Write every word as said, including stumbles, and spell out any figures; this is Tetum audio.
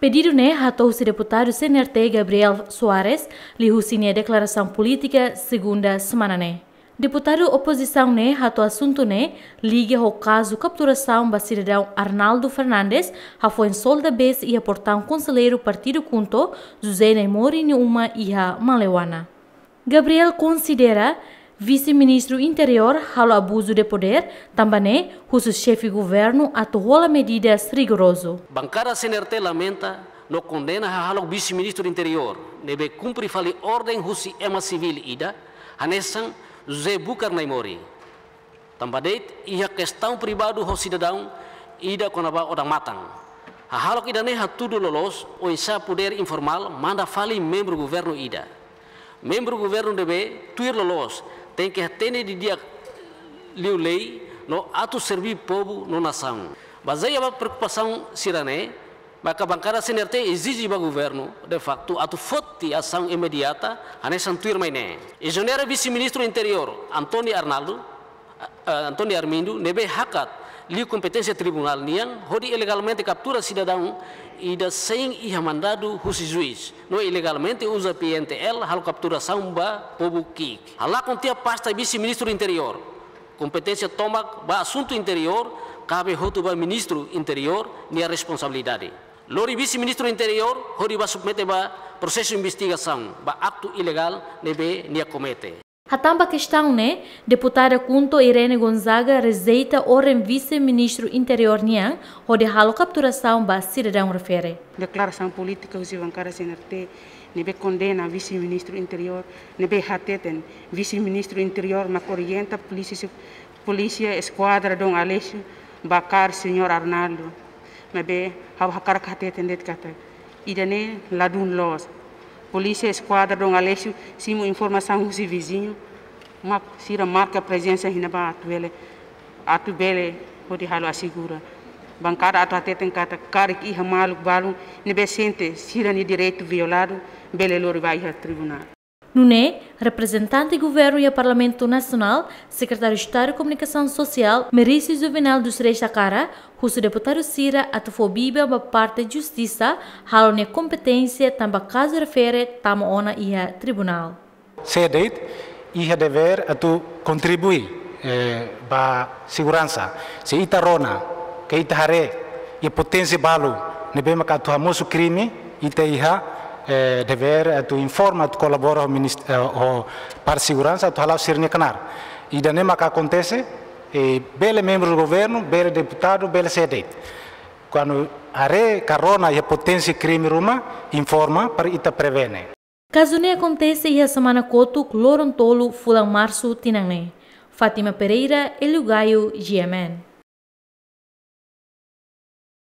Pedidu ne'e hato'o husi deputadu C N R T Gabriel Soares, liuhusi nia deklarasaun polítika segunda semana ne'e. Deputadu opozisaun ne'e hato'o asuntu ne'e liga ho kazu kapturasaun ba sidadaun Arnaldo Fernandes, hafoin solda besi iha portaun konselleiru partidu KHUNTO, José Naimori nia uma iha Maleuana. Gabriel konsidera Vise-Ministru Interiór halo abuzu de podér, tanba ne'e husu xefe governu atu hola medidas rigorozu. Bankada C N R T lamenta no kondena hahalok Vise-Ministru Interiór ne'ebé kumpre fali orden husi ema sivíl ida, hanesan José Bucar Naimori. Tanba de'it iha kestaun privadu ho sidadaun ida kona-ba odamatan. Hahalok ida-ne'e hatudu loloos oinsá podér informál manda fali membru governu ida. Membru governu ne'ebé tuir loloos tenke hatene didi'ak liu lei no atu serbí povu no nasaun. Bazeia ba preokupasaun sira-ne'e, maka bankada C N R T ezije ba governu, de faktu, atu foti asaun imediata hanesan tuirmai ne'e. Ezonera Vise-Ministru Interiór António Arnaldo, eh, António Armindo, ne'ebé hakat liu kompeténsia tribunál nian hodi ilegalmente kaptura sidadaun ida sein iha mandadu husi juís, no ilegalmente uza P N T L halo kapturasaun ba povu ki'ik. Halakon tiha pasta Vise-Ministru Interiór. Kompeténsia tomak ba asuntu interiór kabe hotu ba Ministru Interiór nia responsabilidade. Lori Vise-Ministru Interiór hodi ba submete ba prosesu investigasaun ba aktu ilegál ne'ebé nia komete. Hatán ba kestaun ne'e, deputada KHUNTO Irene Gonzaga rejeita orden Vise-Ministru Interiór nian hodi halo kapturasaun ba sidadaun refere. Deklarasaun polítika husi bankada C N R T ne'ebé kondena Vise-Ministru Interiór, ne'ebé hateten Vise-Ministru Interiór mak orienta polísia, polísia eskuadra Dom Aleixo ba kaer señór Arnaldo. Maibé ha'u hakarak hateten de'it katak ida-ne'e ladún loos. Polísia eskuadra Dom Aleixo simu informasaun husi viziñu, mak sira marka prezensa iha ne'ebá atu bele, atu bele hodi halo asegura. Bankada atu hateten katak karik iha maluk balun ne'ebé sente sira-nia direitu violadu, bele lori ba iha tribunál. Nune'e, reprezentante governu iha Parlamentu Nasionál, Sekretáriu Estadu Komunikasaun Sosiál, Merício Juvenal dos Reis hakarak husu deputadu sira atu fó biban ba parte justisa halo nia kompeténsia tanba kazu refere tama ona iha tribunál. Sé de'it iha devér atu kontribui, eh, ba seguransa. Se ita rona, ke ita haree, iha poténsia balu ne'ebé maka atu hamosu krime, ita iha, eh, devér atu informa, atu kolabora ho minist-, eh, ho parte seguransa, atu hala'o sira-nia knaar. Ida-ne'e maka akontese, eh, bele membru governu, bele deputadu, bele sé de'it. Kuandu haree ka rona iha poténsia krime ruma, informa para ita prevene. Kazu ne'e akontese iha semana kotuk, loron tolu fulan Marsu tinan ne'e. Fátima Pereira, Hélio Gaio, G M N.